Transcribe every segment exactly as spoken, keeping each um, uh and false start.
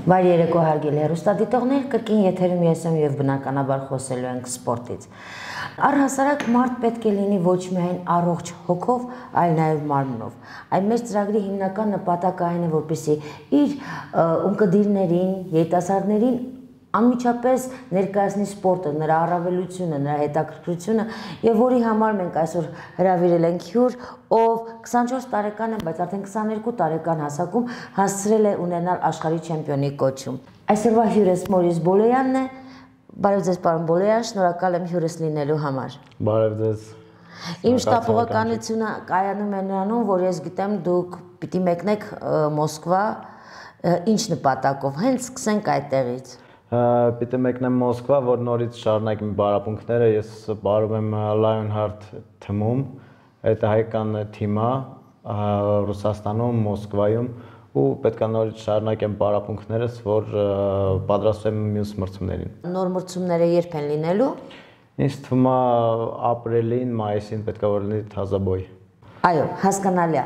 Վայր երեկո հարգելի հեռուստադիտողներ, կրկին եթերում ես եմ եւ բնականաբար խոսելու ենք սպորտից։ Առհասարակ մարդ պետք է լինի ոչ միայն առողջ հոգով, այլ նաեւ մարմնով։ Այդ մեր ծրագրի հիմնական նպատակը այն է, որպեսզի իր ունկնդիրներին, երիտասարդներին անմիջապես ներկայացնի սպորտը, նրա առավելությունը, նրա հետաքրքրությունը եւ որի համար մենք այսօր հրավիրել ենք հյուր, ով քսանչորս տարեկան է, բայց արդեն քսաներկու տարեկան հասակում հասցրել է ունենալ աշխարհի չեմպիոնի կոչում։ Այսօրվա հյուրս Մորիս Բոլոյանն է։ Բարև ձեզ, պարոն Բոլոյան, շնորհակալ եմ հյուրս լինելու համար։ Բարև ձեզ։ Իմ շտապողականությունը կայանում է նրանում, որ ես գիտեմ դուք պիտի մեկնեք Մոսկվա, ինչ նպատակով, հենց սկսենք այդտեղից։ Պիտի մեկնեմ Մոսկվա, որ նորից շարունակեմ բարապունքները, ես բարում եմ Lionheart թիմում, այդ հայկական թիմը Ռուսաստանում, Մոսկվայում ու պետք է նորից շարունակեմ բարապունքներս, որ պատրաստվեմ մյուս մրցումներին։ Նոր մրցումները երբ են լինելու։ Ինձ թվում է ապրիլին, մայիսին պետք է որ լինի թազաբոյ։ Այո, հասկանալի է։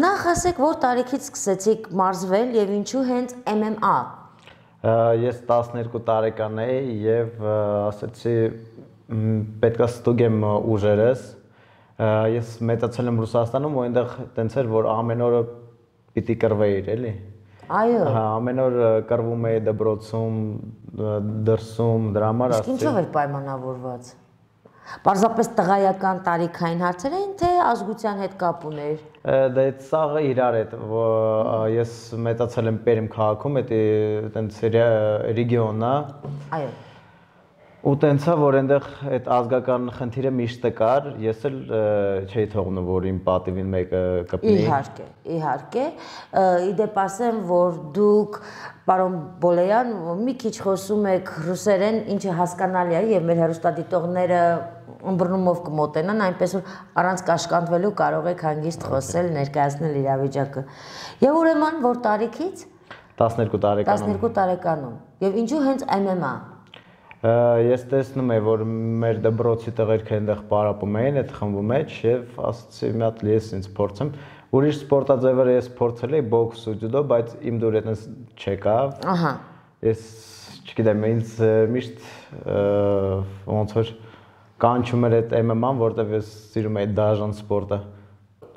Նախ ասեք, որ տարիքից սկսեցիք մարզվել եւ ինչու հենց M M A։ Ես տասներկու տարեկան էի եւ ասեցի պետք է ստուգեմ ուժերս։ Ես մեծացել եմ Ռուսաստանում, ու այնտեղ տենց էր, որ ամեն օրը պիտի կռվեիր, էլի։ Այո։ Հա, ամեն օր կռվում էի դպրոցում, դրսում, դրա համար ասեցի։ Իսկ ինչով էր պայմանավորված։ Պարզապես տղայական տարիքային հարցեր էին, թե ազգության հետ կապ ուներ։ Դա այդ սաղը իրար հետ, ես մեծացել եմ Պերիմ քաղաքում, դա տենց ռեգիոն է։ Այո։ Ու տենցա, որ այնտեղ այդ ազգական խնդիրը միշտ կար, ես էլ չէի թողնում, որ իմ պատիվին մեկը կպնի։ Իհարկե, իհարկե, իդեպ ասեմ, որ դուք, պարոն Բոլոյան, մի քիչ խոսում եք ռուսերեն, ինչը հասկանալի է, եւ մեր հեռուստադիտողները ըմբռնումով կմոտենան, այնպես որ առանց կաշկանդվելու կարող եք հանգիստ խոսել, ներկայացնել իրավիճակը։ Եվ ուրեմն, որ տարիքից տասներկու տարեկանում։ տասներկու տարեկանում։ Եվ ինչու հենց M M A։ Ես տեսնում եմ, որ մեր դպրոցի տղերքը այնտեղ պարապում էին այդ խմբի մեջ եւ ասացի մի հատ ես ինձ փորձեմ։ Ուրիշ սպորտաձևերը ես փորձել էի բոքս ու ջյուդո, բայց իմ դուր այդպես չեկավ։ Ահա։ Ես չգիտեմ, ինձ միշտ ոնց որ կանչում էր այդ M M A-ն, որտեղ ես սիրում էի դաժան սպորտը։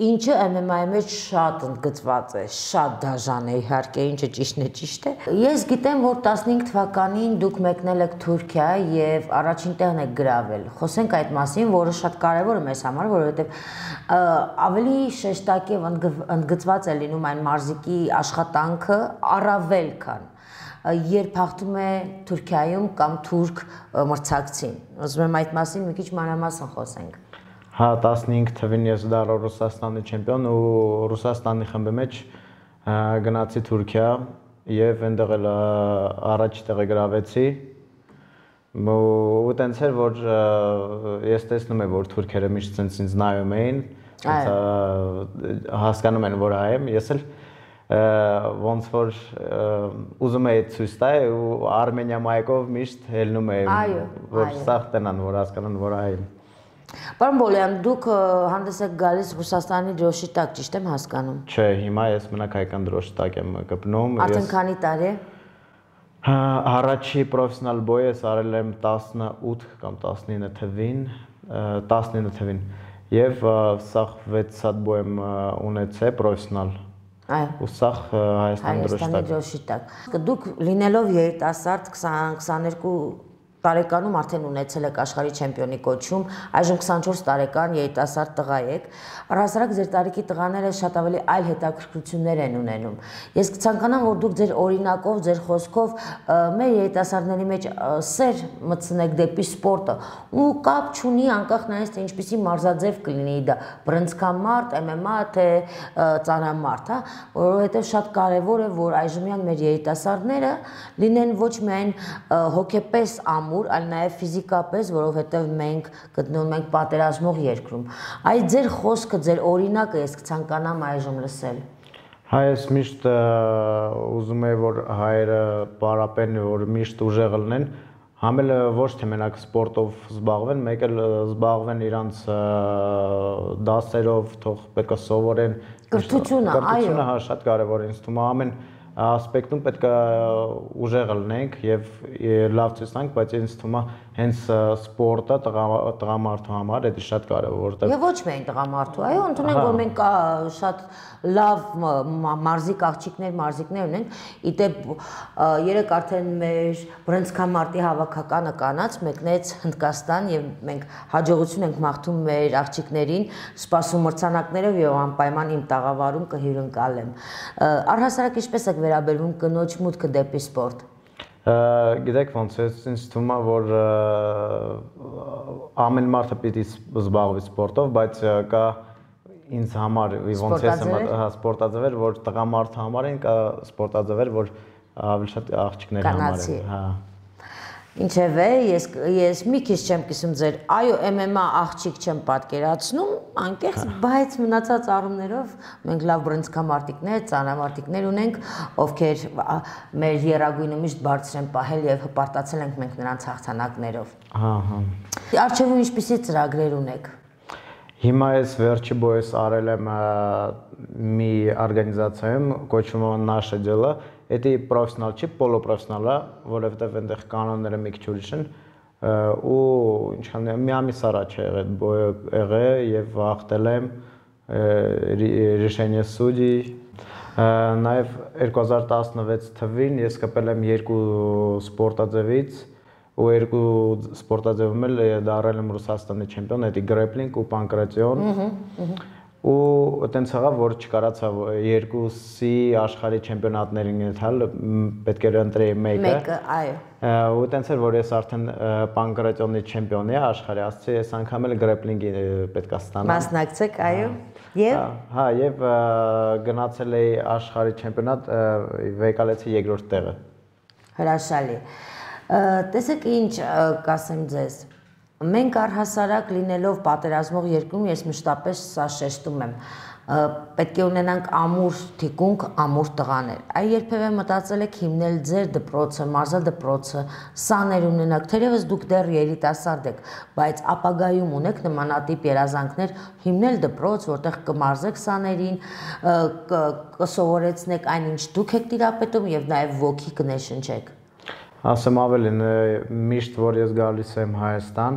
Ինչը M M A-ի մեջ շատ ընդգծված է, շատ դաժան է, իհարկե, ինչը ճիշտն է, ճիշտ է։ Ես գիտեմ, որ տասնհինգ թվականին դուք մեկնել եք Թուրքիա եւ առաջին տեղն եք գրավել։ Խոսենք այդ մասին, որը շատ կարեւոր է մեզ համար, որովհետեւ ավելի շեշտակ եւ ընդգծված է լինում այն մարզիկի աշխատանքը առավել քան երբ հաղթում է Թուրքիայում կամ թուրք մրցակցին։ Ուզում եմ այդ մասին մի քիչ մանրամասն խոսենք։ Հա, տասնհինգ թվին ես դառա Ռուսաստանի չեմպիոն ու Ռուսաստանի խմբի մեջ գնացի Թուրքիա եւ այնտեղ էլ առաջի տեղը գրավեցի։ Ու տենց էր, որ ես տեսնում եմ, որ թուրքերը միշտ ցենց ինձ նայում էին, հասկանում են, որ այ եմ, ես էլ ոնց որ ուզում էի ցույց տալ ու Արմենիա մայքով միշտ ելնում էի, որ սաղ տնան, որ հասկանան, որ այ եմ։ Պարոն Բոլոյան, դուք հանդես եք գալիս Ռուսաստանի դրոշի տակ, ճիշտ եմ հասկանում։ Չէ, հիմա ես մենակ հայկական դրոշի տակ եմ գտնում։ Արդեն քանի տարի է։ Առաջի պրոֆեսիոնալ բոյ ես արել եմ տասնութ կամ տասնինը թվին, տասնինը թվին։ Եվ սաղ վեց հատ բոյ եմ ունեցել պրոֆեսիոնալ։ Այո։ Ու սաղ Հայաստանի դրոշի տակ։ Հայաստանի դրոշի տակ։ Դուք լինելով երիտասարդ քսաներկու տարեկանում արդեն ունեցել եք աշխարհի չեմպիոնի կոչում, այժմ քսանչորս տարեկան երիտասարդ տղա եք։ Առհասարակ ձեր տարիքի տղաները շատ ավելի այլ հետաքրքրություններ են ունենում։ Ես կցանկանամ, որ դուք ձեր օրինակով, ձեր խոսքով մեր երիտասարդների մեջ սեր մտցնեք դեպի սպորտը ու կապ չունի անկախ նայած թե ինչպիսի մարզաձև կլինի դա, բռնցքամարտ, M M A թե ծանրամարտ, հա, որովհետև շատ կարևոր է, որ այժմյան մեր երիտասարդները լինեն ոչ միայն հոգեպես ամ այլ նաև ֆիզիկապես, որովհետև մենք գտնվում ենք պատերազմող երկրում։ Այդ ձեր խոսքը, ձեր օրինակը ես կցանկանամ այժմ լսել։ Հա, ես միշտ ուզում եմ, որ հայերը պարապեն, որ միշտ ուժեղ լինեն, համ էլ ոչ թե մենակ սպորտով զբաղվեն, մեկ էլ զբաղվեն իրանց դասերով, թող պետք է սովորեն։ Կրթությունը, այո։ Կրթությունը հա շատ կարևոր է, ինձ թվում է ամեն ասպեկտում պետք է ուժեղ լինենք եւ լավ ցույց տանք, բայց ինձ թվում է հենց սպորտը տղամարդու համար դա շատ կարեւոր, որովհետեւ Եվ ոչ միայն տղամարդու, այո, ընդունենք, որ մենք շատ լավ մարզիկ աղջիկներ, մարզիկներ ունենք։ Իդեպ երեք արդեն մեր բրոնզկամարտի հավաքականը կանած մեկնեց Հնդկաստան եւ մենք հաջողություն ենք մաղթում մեր աղջիկներին, սպասում մրցանակներով եւ անպայման իմ տաղավարում կհյուրընկալեմ։ Առհասարակ ինչպես եք վերաբերվում կնոջ մուտքը դեպի սպորտ։ Գիտեք ոնց է, ինձ թվում է, որ ամեն մարդը պիտի զբաղվի սպորտով, բայց կա ինձ համար ոնց է սպորտաձևեր, որ տղամարդու համար են, կա սպորտաձևեր, որ ավելի շատ աղջիկների համար են, հա։ Ինչևէ, ես ես մի քիչ չեմ կիսում ձեր, այո, էմ էմ ա աղջիկ չեմ պատկերացնում, անկեղծ, բայց մնացած առումներով մենք լավ բրոնզկամարտիկներ, ծանրամարտիկներ ունենք, ովքեր մեր եռագույնը միշտ բարձր են պահել եւ հպարտացել ենք մենք նրանց հաղթանակներով։ Հա, հա։ Արժևում ինչպիսի ծրագրեր ունեք։ Հիմա ես վերջի բոյս արել եմ մի օրգանիզացիայում, կոչվում է Nasze Дело, դա պրոֆեսիոնալ չի, պոլոպրոֆեսիոնալ է, որովհետև այնտեղ կանոնները մի քիչ ուրիշ են, ու ինչքան մի ամիս առաջ է եղել բոյը եղել եւ հաղթել եմ решение судей, նաեւ երկու հազար տասնվեց թվականին ես կպել եմ երկու սպորտաձևից ու երկու սպորտաձևում էլ դառել եմ Ռուսաստանի չեմպիոն, դա գրեպլինգ ու պանկրատիոն։ Ու այտենց եղավ, որ չկարացա երկուսի աշխարհի չեմպիոնատներին գնալ, պետք էր ընտրեի մեկը։ Մեկը, այո։ Ու այտենց էր, որ ես արդեն պանկրատիոնի չեմպիոն եմ աշխարհի, ասացի, ես անգամ էլ գրեպլինգի պետք է ստանամ։ Մասնակցեք, այո։ Եվ հա, եւ գնացել էի աշխարհի չեմպիոնատ, վեկալեցի երկրորդ տեղը։ Հրաշալի։ Տեսեք ինչ կասեմ ձեզ։ Մենք առհասարակ լինելով պատերազմող երկրում, ես մշտապես սա շեշտում եմ, պետք է ունենանք ամուր թիկունք, ամուր տղաներ։ Այ երբևէ մտածել եք հիմնել ձեր դպրոցը, մարզադպրոցը, սաներ ունենաք, թերևս դուք դեռ երիտասարդ եք, բայց ապագայում ունեք նմանատիպ երազանքներ հիմնել դպրոց, որտեղ կմարզեք սաներին, կսովորեցնեք այն, ինչ դուք եք տիրապետում եւ նաեւ ոգի կներշնչեք։ Ասեմ ավելին, միշտ որ ես գալիս եմ Հայաստան,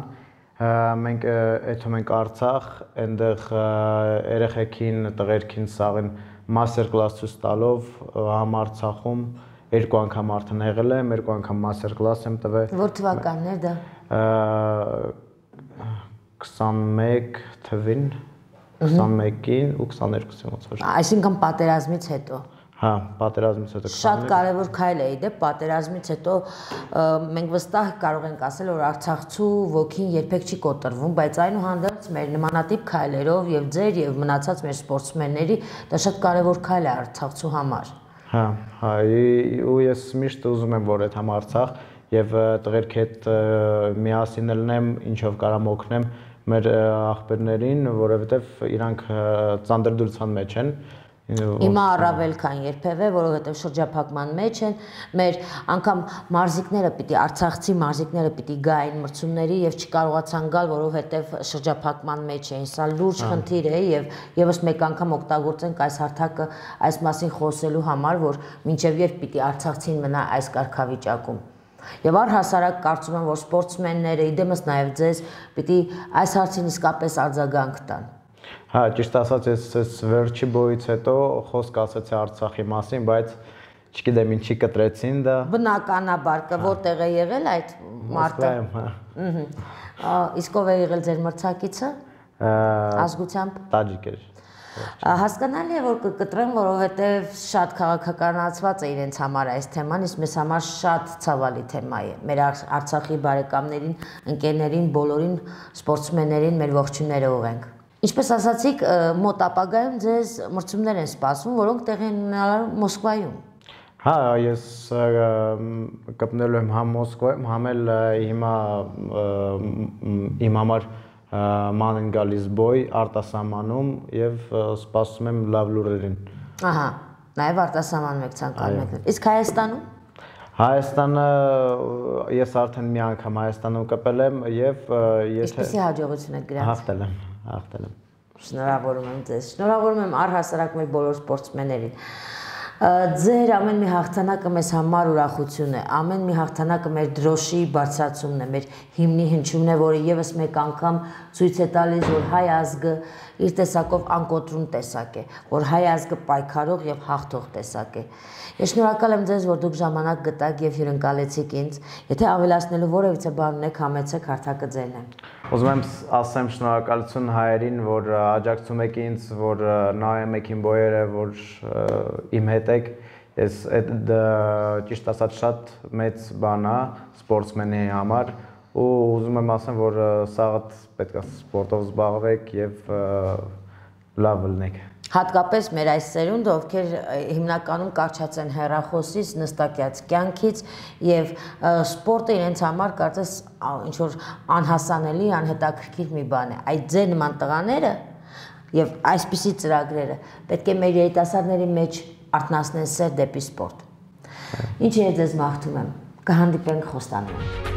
մենք եթում ենք Արցախ, այնտեղ երեխեքին, տղերքին սաղին մաստեր կլաս ցույց տալով համարցախում երկու անգամ արդեն եղել եմ, երկու անգամ մաստեր կլաս եմ տվել։ Որ թվականներ դա։ քսանմեկ թվին, քսանմեկին ու քսաներկուսին ոնց որ։ Այսինքն պատերազմից հետո։ Հա, պատերազմից հետո։ Շատ կարևոր քայլ է, դե պատերազմից հետո մենք վստահ կարող ենք ասել, որ Արցախցու ոգին երբեք չի կոտրվում, բայց այնուհանդերձ մեր նմանատիպ քայլերով եւ ձեր եւ մնացած մեր սպորտսմենների դա շատ կարևոր քայլ է Արցախցու համար։ Հա, հա, ու ես միշտ ուզում եմ, որ այդ համ Արցախ եւ տղերքի հետ միասին լինեմ, ինչով կարամ օգնեմ մեր աղբերներին, որովհետեւ իրանք ծանրդրության մեջ են։ Հիմա առավել քան երբևէ, որովհետև շրջափակման մեջ են, մեր անգամ մարզիկները պիտի, արցախցի մարզիկները պիտի գային մրցումների եւ չկարողացան գալ, որովհետև շրջափակման մեջ էին։ Սա լուրջ խնդիր է եւ եւս մեկ անգամ օգտագործենք այս հարթակը այս մասին խոսելու համար, որ մինչեւ երբ պիտի արցախցին մնա այս կարգավիճակում։ Եվ առհասարակ կարծում եմ, որ սպորտսմենները, իդեմս նաեւ ձեզ պիտի այս հարցին իսկապես արձագանք տան։ Հա, ճիշտ ասած, ես վերջի բոյից հետո խոսք ասացի Արցախի մասին, բայց չգիտեմ ինչի կտրեցին դա։ Բնականաբար, որտեղ է եղել այդ մարտը։ Մոսկվայում, հա։ Իսկ ով է եղել ձեր մրցակիցը։ Ազգությամբ։ Տաջիկ էր։ Հասկանալի է, որ կկտրեմ, որովհետև շատ քաղաքականացված է իրենց համար այս թեման, իսկ մեզ համար շատ ցավալի թեմա է։ Մեր Արցախի բարեկամներին, ընկերներին, բոլորին սպորտսմեններին մեր ողջույնները ուղենք։ Ինչպես ասացիք, մոտ ապագայում ձեզ մրցումներ են սպասվում, որոնք տեղի են ունենալու Մոսկվայում։ Հա, ես կպնելու եմ համ Մոսկվայում, համ էլ հիմա իմ համար ման են գալիս բոյ արտասահմանում եւ սպասում եմ լավ լուրերին։ Ահա, նաեւ արտասահմանում եք ցանկանում եք։ Իսկ Հայաստանում։ Հայաստանը ես արդեն մի անգամ Հայաստանում կպել եմ եւ եթե Ինչպեսի հաջողություն եք գրած։ Հաղթել եմ, հաղթել եմ։ Շնորհավորում եմ ձեզ։ Շնորհավորում եմ առհասարակ մեր բոլոր սպորտսմեններին։ Ձեր ամեն մի հաղթանակը մեզ համար ուրախություն է, ամեն մի հաղթանակը մեր դրոշի բարձրացումն է, մեր հիմնի հնչյունն է, որը եւս մեկ անգամ ցույց է տալիս, որ հայ ազգը իր տեսակով անկոտրուն տեսակ է, որ հայ ազգը պայքարող եւ հաղթող տեսակ է։ Ես շնորհակալ եմ ձեզ, որ դուք ժամանակ գտաք եւ հյուրընկալեցիք ինձ։ Եթե ավելացնելու որևիցե բան ունեք, համեցեք, հարթակը ձերն է։ Ուզում եմ ասեմ շնորհակալություն հայերին, որ աջակցում եք ինձ, որ նայում եք իմ բոյերը, որ իմ հետ եք։ Ես այդ ճիշտ ասած շատ մեծ բան է սպորտսմենի համար ու ուզում եմ ասեմ, որ սաղ պետք է սպորտով զբաղվեք եւ լավ լինեք։ Հատկապես մեր այս սերունդը, ովքեր հիմնականում կարճած են հեռախոսից, նստակյաց կյանքից եւ սպորտը իրենց համար կարծես ինչ որ անհասանելի, անհետաքրքիր մի բան է։ Այդ ձեր նման տղաները եւ այսպիսի ծրագրերը պետք է մեր երիտասարդների մեջ արթնացնեն սեր դեպի սպորտ։ Ինչ է ձեզ մաղթում եմ։ Կհանդիպենք Խոստանում։